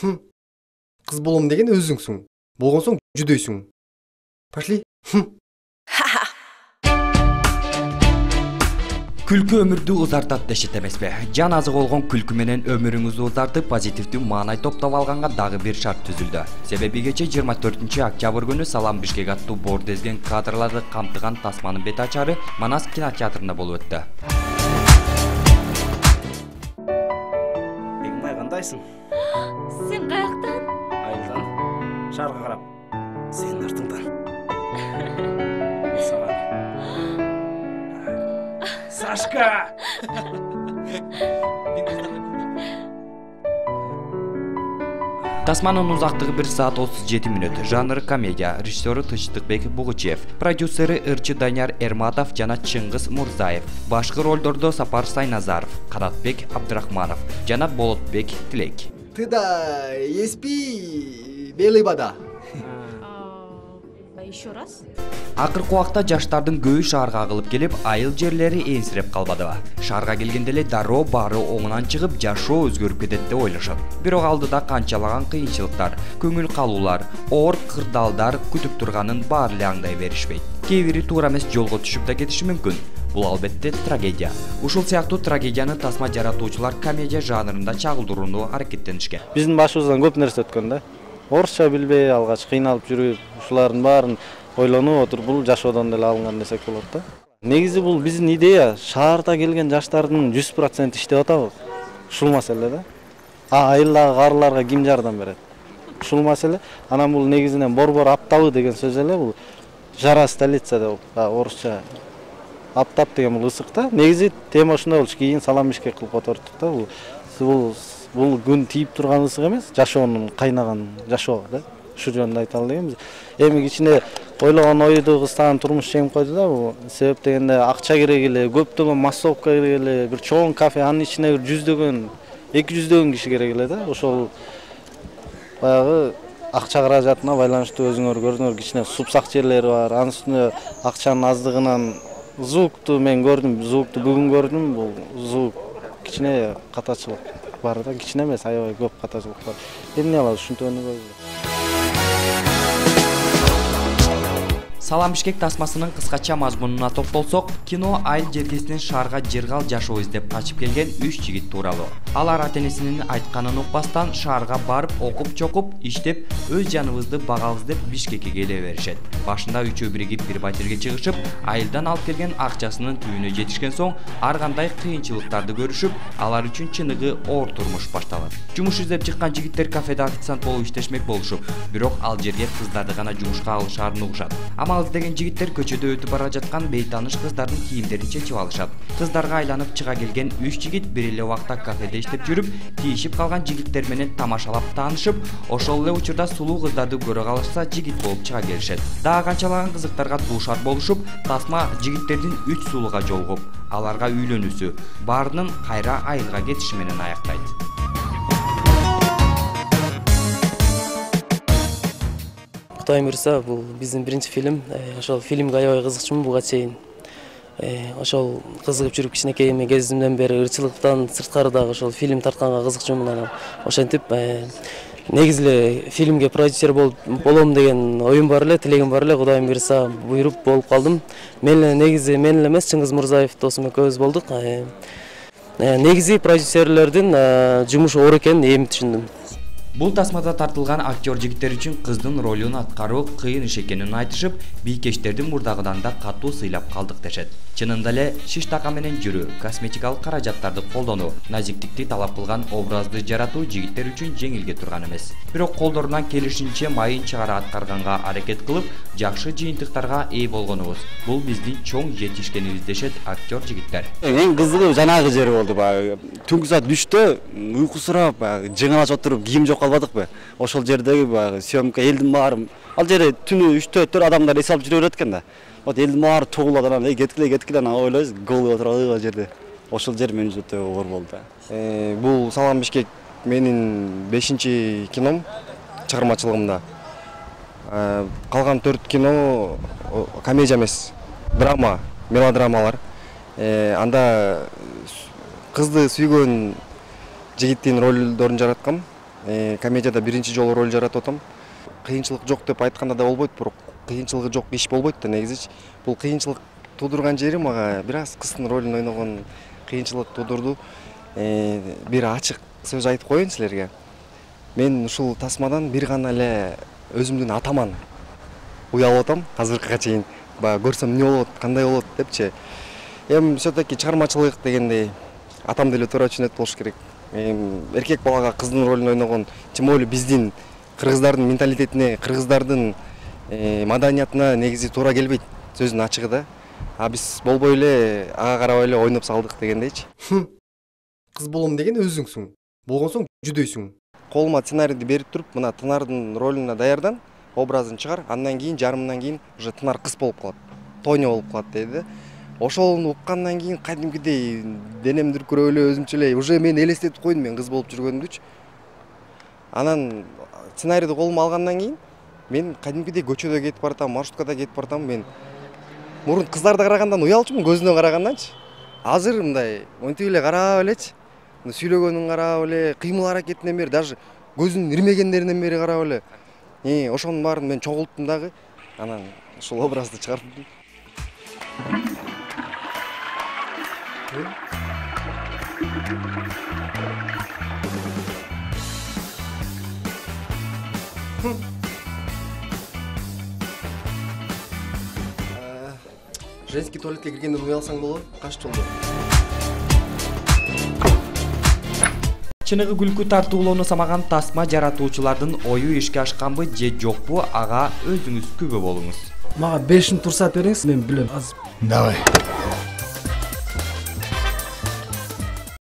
Кыз болом деген өзүңсүң. Болгон соң жүдөйсүң. Пошли. Күлкү өмүрдү узартат дешет эмеспи? Жан азык болгон күлкү менен өмүрүңүздү узартып, позитивдүү маанай топтоп алганга дагы бир шарт түзүлдү. Себеби кече 24-октябрь күнү Салам Бишкек аттуу бордезген кадрларды камтыган тасманын бет ачары Манас кинотеатрында болуп өттү. Бегимбай, кандайсың? Сен каяктан? Айылдан, шаарга карап. Сенин артыңдан. Сашка! Тасманын узактыгы 1 саат 37 мүнөт. Жанры комедия. Режиссеру Тынчтыкбек Бугучев. Продюсери Ырчы Данияр Эрматов жана Чыңгыз Мурзаев. Башкы ролдордо Сапар Сайназаров, Канатбек Абдрахманов жана Болотбек Тилек. Ты да еспи, белый вода. Еще раз? Акыркы убакта жаштардын көбү шаарга агылып келип, айыл жерлери эңсиреп калбадыбы? Шаарга келгенде эле дароо баары оңунан чыгып, жашоо өзгөрүп кетет деп ойлошот. Бирок алдыда канчалаган кыйынчылыктар, көңүл калуулар, оор кырдаалдар күтүп турганын баары эле аңдай беришпейт. Кээ бири туура эмес жолго түшүп да кетиши мүмкүн. Бул албетте трагедия. Ушул сыяктуу трагедияны тасма жаратуучулар комедия жанрында чагылдырууну аракеттенишкен. Биздин башыбыздан көп нерсе өткөн да. Орусча билбей, алгач кыйналып жүрүп, ушулардын баарын ойлонуп отуруп, бул жашоодон деле алынган десек болот да. Негизи бул биздин идея шаарда келген жаштардын 100% иштеп атабы. Ушул маселе да. Айылдагы карыларга ким жардам берет? Ушул маселе. Анан бул негизинен борбор аптабы деген сөз эле бул жара столица деп орусча. Аптап деген бул ысык да. Негизи тема ушундай болчу. Кийин Салам Бишкек кылып отурдук да. Бул күн тийип турган ысык эмес, жашоонун кайнаган жашоо да. Ушу жөнүндө айталы дегенбиз. Эми кичине ойлогон ойду кыстаган турмуш жеңип койду да. Бул себеп дегенде акча керек эле, көптөгөн массовка керек эле, бир чоң кафе, анын ичине бир 100дөгөн, 200дөгөн киши керек эле да. Ошол баягы акча каражатына байланыштуу өзүңөр көрдүңөр, кичине супсак жерлери бар. Анын үстүнө акчанын аздыгынан звукту мен көрдүм, звукту бүгүн көрдүм. Бул звук кичине катачылык бар да, кичине эмес, аябай көп катачылык бар. Эмне алабыз, ушинтип көрдүм. Салам Бишкек тасмасынын кыскача мазмунуна токтолсок, кино айыл жергесинен шаарга жыргал жашоо издеп качып келген 3 жигит тууралуу. Алар ата-энесинин айтканын укпастан шаарга барып, окуп-чокуп, иштеп, өз жаныбызды багабыз деп Бишкекке келе беришет. Башында үчөө биригип бир батирге чыгышып, айылдан алып келген акчасынын түбүнө жетишкен соң, ар кандай кыйынчылыктарды көрүшүп, алар үчүн чыныгы оор турмуш башталат. Жумуш издеп чыккан жигиттер кафеде официант болуп иштешмек болушуп, бирок ал жерге кыздарды гана жумушка алышаарын угушат. Амал издеген жигиттер көчөдө өтүп бара жаткан бейтаныш кыздардын кийимдерин чечип алышат. Кыздарга айланып чыга келген 3 жигит бир эле убакта кафеде иштеп жүрүп, тийишип калган жигиттер менен тамашалап таанышып, ошол эле учурда сулуу кыздарды көрө калышса жигит болуп чыга келишет. Дагы канчалаган кызыктарга дуушар болушуп, тасма жигиттердин 3 сулууга жолугуп, аларга үйлөнүүсү, баарынын кайра айылга кетиши менен аяктайт. Кутайым Мырза, бул биздин биринчи фильм. Ошол фильмге аябай кызыкчумун буга чейин. Ошол кызыгып жүрүп кичинекей кезимден бери ырчылыктан сырткары дагы ошол фильм тартканга кызыкчумун. Анан ошентип негизи эле фильмге продюсер болом деген оюм бар эле, тилегим бар эле. Кудайым буйрса буйруп болуп калдым. Мен эле эмес, Чыңгыз Мурзаев досум экөөбүз болдук. Негизи продюсерлердин жумушу оор экенин эми түшүндүм. Бул тасмада тартылган актер жигиттер үчүн кыздын ролун аткаруу кыйын иш экенин айтышып, бийкечтердин мурдагыдан да катуу сыйлап калдык дешет. Чынында эле шиш така менен жүрүү, косметикалык каражаттарды колдонуу, назиктикти талап кылган образды жаратуу жигиттер үчүн жеңилге турган эмес. Бирок колдорунан келишинче майын чыгара аткарганга аракет кылып, жакшы жыйынтыктарга ээ болгонубуз. Бул биздин чоң жетишкенибиз дешет актер жигиттер. Эң кызыгы жанагы жери болду. Түнкү саат 3тө уйкусурап, жыңалашып отуруп, кийим жок калбадыкпы? Ошол жердеги съемка элдин баары, ал жерде түнү 3-4 адамдар эс алып жүрө берет экен да. Вот элдин баары тогулат, анан кеткиле анан ойлойбуз, голуб отуруп ал жерде. Ошол жер мен үчүн өтө оор болду. Бул Салам Бишкек менин 5-чи кином чыгармачылыгымда. Калган 4 кино комедия эмес, драма, мелодрамалар. Анда кызды сүйгөн жигиттин ролдорун жараткам. комедияда биринчи жолу роль жаратып атам. Кыйынчылык жок деп айтканда да болбойт, бирок кыйынчылыгы жок иш болбойт да негизичи. Бул кыйынчылык туудурган жери мага бир аз кыздын ролун ойногон кыйынчылык туудурду. Бир ачык сөз айтып коеюн силерге. Мен ушул тасмадан бир гана эле өзүмдүн атаман уялып атам азыркыга чейин. Баягы көрсөм эмне болот, кандай болот депчи. Эми все-таки чыгармачылык дегенде атам деле туура түшүнөт болуш керек. Эркек балага кыздын ролун ойногон, тем более биздин кыргыздардын менталитетине, кыргыздардын маданиятына негизи туура келбейт сөздүн ачыгы да. А биз болбой эле ага карабай эле ойноп салдык дегендейчи. Кыз болом деген өзүңсүң. Болгон соң жүдөйсүң. Колума сценарийди берип туруп, мына Тынардын ролуна даярдан, образын чыгар, андан кийин жарымынан кийин уже Тынар кыз болуп калат. Тоня болуп калат деди. Ошону уккандан кийин кадимкидей денем дүркүрөп эле өзүмчө эле уже мен элестетип койдум мен кыз болуп жүргөнүмдүчү. Анан сценарийди колума алгандан кийин мен кадимкидей көчөдө кетип баратам, маршруткада кетип баратам. Мен мурун кыздарды карагандан уялчумун, көзүнө караганданчы. Азыр мындай монтип эле карап элечи. Сүйлөгөнүн карап эле, кыймыл аракетинен бери, даже көзүнүн ирмегендеринен бери карап эле. Ошонун баарын мен чогулттум дагы. Анан ушул образды чыгардым. Женский туалетке киргенден уялсаң болот, каш жолдо. Чыныгы күлкү тартуулоону самаган тасма жаратуучулардын ою ишке ашканбы же жокпу, ага өзүңүз күбө болуңуз. Мага 5 турсат бериңиз, мен билем азыр. Давай.